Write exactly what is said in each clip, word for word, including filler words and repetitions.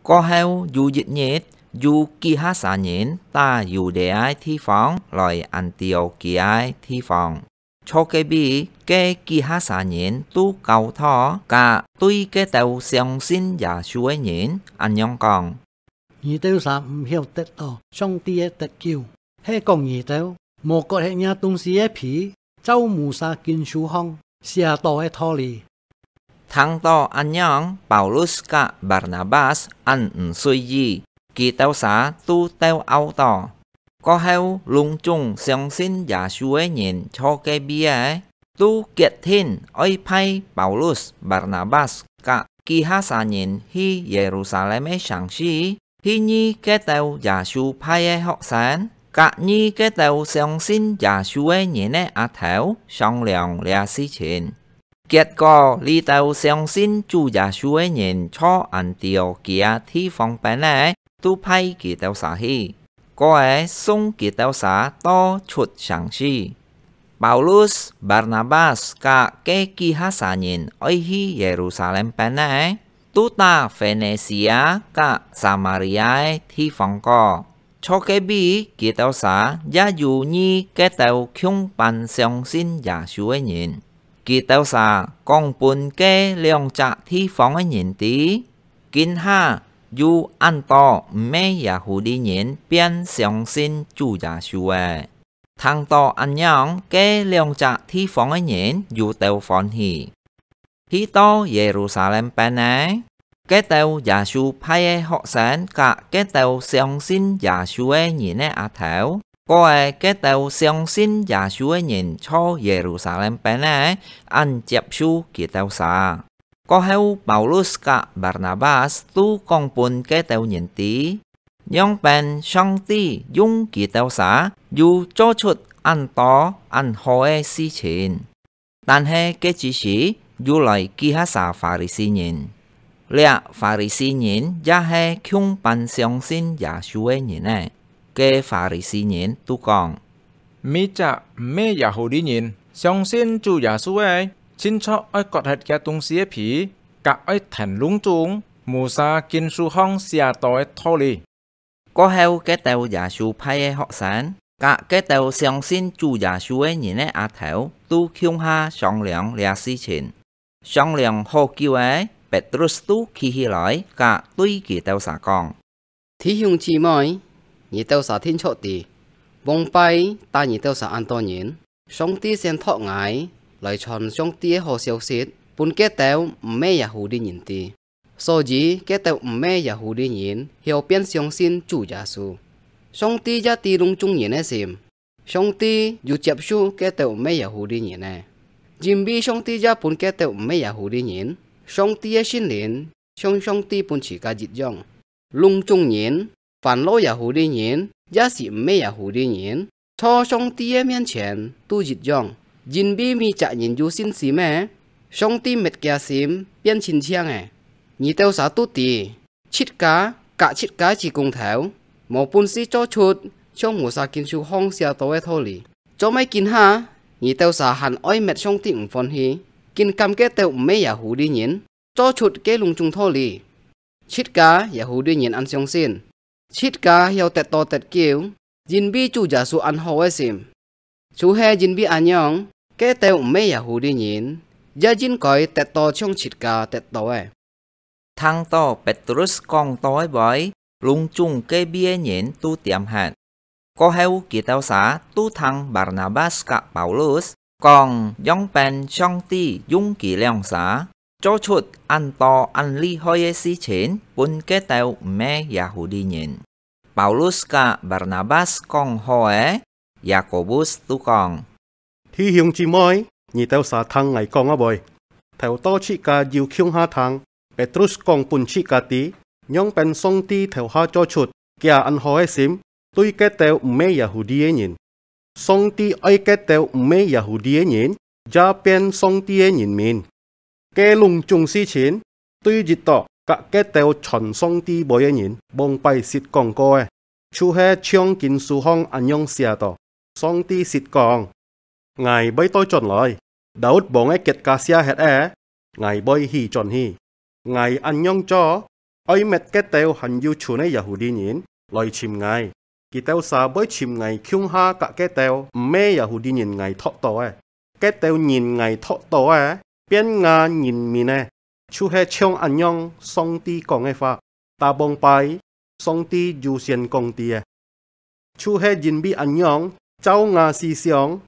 過後有一日，有幾下儕人打由這个地方來Antiokia个地方。坐該位个幾下儕人都交託，甲對該兜相信耶穌个人恁樣講：你兜儕毋曉得到上帝个得救，係講你兜無割忒若東西个皮，照Musa經書項寫到个道理。聽到恁樣，Paulus甲Barnabas恁毋隨意，佢兜儕都鬥拗到。過後，攏總相信耶穌个人坐該位个，都決定愛派Paulus、Barnabas甲幾下儕人去耶路撒冷个城市， 去遇該兜耶穌派个學生，甲遇該兜相信耶穌个人个阿頭商量這事情。結果，這兜相信主耶穌个人坐Antiokia地方邊个，都派佢兜儕去，過後送佢兜儕到出城市。 Paulus、Barnabas甲該幾下儕人愛去耶路撒冷邊个，都打Fenisia甲Samaria个地方過。坐該位，佢兜儕也有遇該兜共般相信耶穌个人。佢兜儕講分該兩隻地方个人知，今下有恁多毋係耶戶利人變相信主耶穌个。 聽到恁樣，該兩隻地方个人又鬥歡喜。去到耶路撒冷邊个，該兜耶穌派个學生甲該兜相信耶穌个人个阿頭，過後該兜相信耶穌个人坐耶路撒冷邊个，恁接受佢兜儕。過後，Paulus甲Barnabas都講分該兜人知， 仰般上帝用佢兜儕又做出恁多恁好个事情。但係該之時又來幾下儕法利賽人。這法利賽人也係共般相信耶穌个人呢。該法利賽人都講： 每隻毋係耶戶利人相信主耶穌个，盡著愛割忒厥東西个皮，甲愛跈攏總Musa經書項寫到个道理。 過後，該兜耶穌派个學生，甲該兜相信主耶穌个人个阿頭，都共下商量這事情。商量好久仔，Petrus都企起來，甲對佢兜儕講：弟兄姊妹，你兜儕定著知，往擺打你兜儕恁多人，上帝先託𠊎來傳上帝个好消息，分該兜毋係耶戶利人知。 所以，該兜毋係耶戶利人曉變相信主耶穌。上帝也知攏總人个心，上帝又接受該兜毋係耶戶利人个，因為上帝也分該兜毋係耶戶利人上帝个聖靈，像上帝分自家一樣。攏總人， 凡老耶戶利人，也係毋係耶戶利人，在上帝个面前都一樣，因為每隻人有信心个，上帝搣厥心變親像个。你兜儕都知，自家甲自家个工頭，無本事做出像Musa經書項寫到个道理。做麼今下，你兜儕還愛搣上帝毋歡喜，竟敢該兜毋係耶戶利人， 做出該攏總道理。自家耶戶利人恁相信，自家曉得到得救，因為主耶穌恁好个心。就係因為恁樣，該兜毋係耶戶利人，也應該得到像自家得到个。聽到Petrus講到个話，攏總該位个人都恬忒。 過後，佢兜儕都聽Barnabas甲Paulus講，仰般上帝用佢兩儕做出恁多恁厲害个事情，分該兜毋係耶戶利人。Paulus甲Barnabas講好仔，Yakobus都講： 弟兄姊妹，你兜儕聽𠊎講啊會。頭到自家有共下聽，Petrus講分自家知，仰般上帝頭下做出厥恁好个心，對該兜毋係耶戶利个人。上帝愛該兜毋係耶戶利个人，也變上帝个人民。 該攏總事情，對一到甲該兜傳上帝話个人，往擺識講過个，就係像經書項恁樣寫到：上帝識講：「𠊎會倒轉來，Daud王个國家卸忒个，𠊎會起轉去。」𠊎恁樣做，愛滅該兜還有存个耶戶地人來尋𠊎，佢兜儕會尋𠊎共下佮該兜毋係耶戶地人𠊎擇到个。該兜人𠊎擇到个，變吾人民个，就係像恁樣上帝講个話。打幫拜，上帝有先講知个。就係因為恁樣，照吾思想，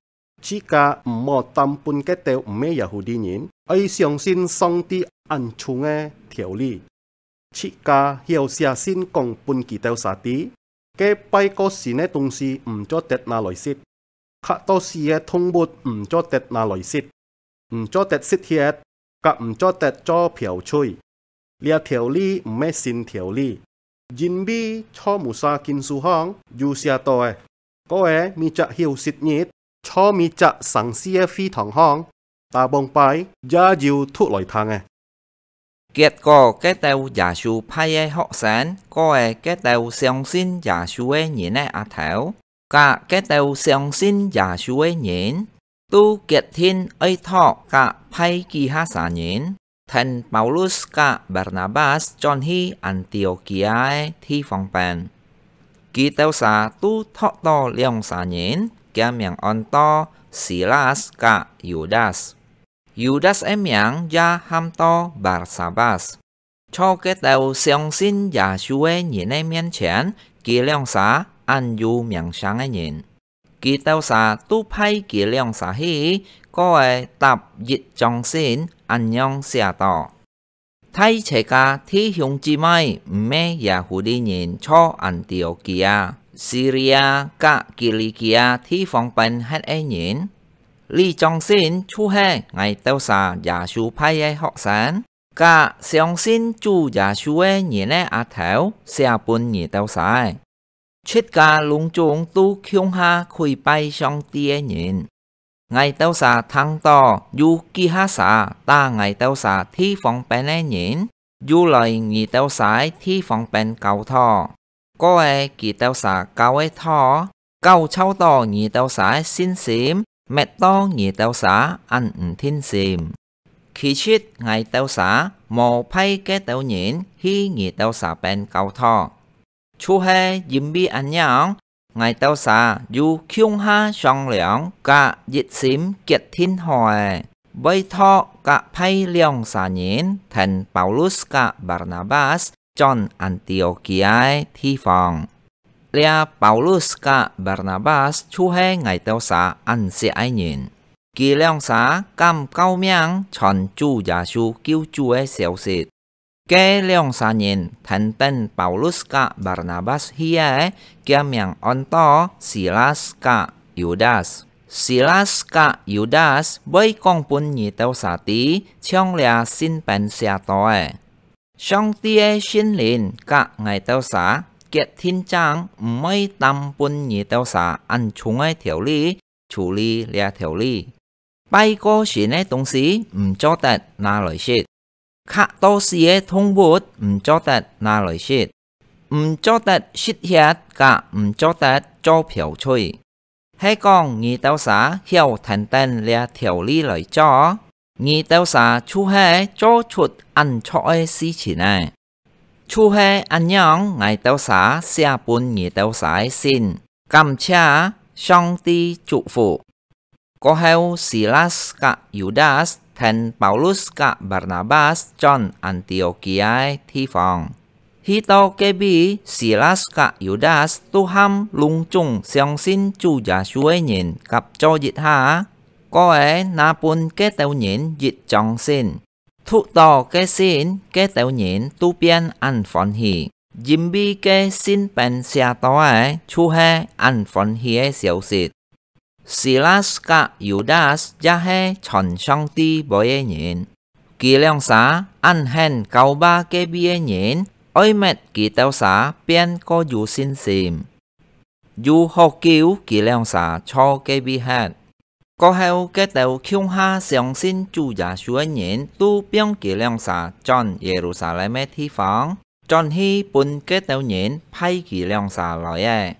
自家毋好擔分該兜毋係耶戶地人，愛相信上帝恁重个條理。自家曉寫信講分佢兜儕知，該拜過神个東西毋做得拿來食，刻到死个動物毋做得拿來食，毋做得食血，佮毋做得做嫖妓。這條理毋係新條理，因為在Musa經書項有寫到个，過个每隻休息日，在每隻城市个會堂項，打幫拜也有讀來聽个。結果該兜耶穌派个學生，過个該兜相信耶穌个人个阿頭，佮該兜相信耶穌个人，都決定愛擇佮派幾下儕人，跈Paulus佮Barnabas轉去Antiokia个地方邊。佢兜儕都擇到兩儕人，厥名安到Silas佮Yudas。Yudas个名也喊到Barsabas。在該兜相信耶穌个人个面前，佢兩儕恁有名聲个人。佢兜儕都派佢兩儕去，過个搭一張信，恁樣寫到：大齊家弟兄姊妹，毋係耶戶地人在Antiokia、Siria佮Kilikia地方邊歇个人，這張信就係𠊎兜儕耶穌派个學生， 佮相信主耶穌个人个阿頭寫分你兜儕，自家攏總都共下跪拜上帝个人。𠊎兜儕聽到有幾下儕打𠊎兜儕地方邊个人，又來你兜儕地方邊教導。 過个佢兜儕教个道，攪擾到你兜儕个信心，搣到你兜儕恁毋定心。其實𠊎兜儕無派該兜人去你兜儕邊教導，就係因為恁樣，𠊎兜儕有共下商量佮一心決定好个，會擇佮派兩儕人跈Paulus佮Barnabas 轉Antiokia个地方。這Paulus佮Barnabas就係𠊎兜儕恁惜个人，佢兩儕敢救命傳主耶穌救主个消息。該兩儕人跈等Paulus佮Barnabas去个，厥名安到Silas佮Yudas。Silas佮Yudas會講分你兜儕知，像這信邊寫到个。 上帝个聖靈佮𠊎兜儕決定正毋會擔分你兜儕恁重个條例，處理這條例。拜過神个東西毋做得拿來食，刻到死个動物毋做得拿來食，毋做得食血佮毋做得做嫖妓。 係講你兜儕曉跈等這條例來做，你兜儕就係做出恁著个事情呢。就係恁樣，𠊎兜儕寫分你兜儕个信，感謝，上帝祝福。過後，Silas佮Yudas跈Paulus佮Barnabas轉Antiokia个地方。 去到該位，Silas佮Yudas都喊攏總相信主耶穌个人合做一下，過个拿分該兜人一張信。讀到該信，該兜人都變恁歡喜，因為該信邊寫到个就係恁歡喜个消息。 Silas佮Yudas也係傳上帝話个人，佢兩儕恁肯教化該位个人，愛搣佢兜儕變過有信心。有好久佢兩儕在該位歇。過後，該兜共下相信主耶穌个人都放佢兩儕轉耶路撒冷个地方， 轉去分該兜人派佢兩儕來个。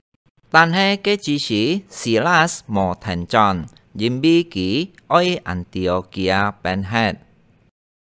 但係該之時，Silas無跈轉，因為佢愛Antiokia邊歇。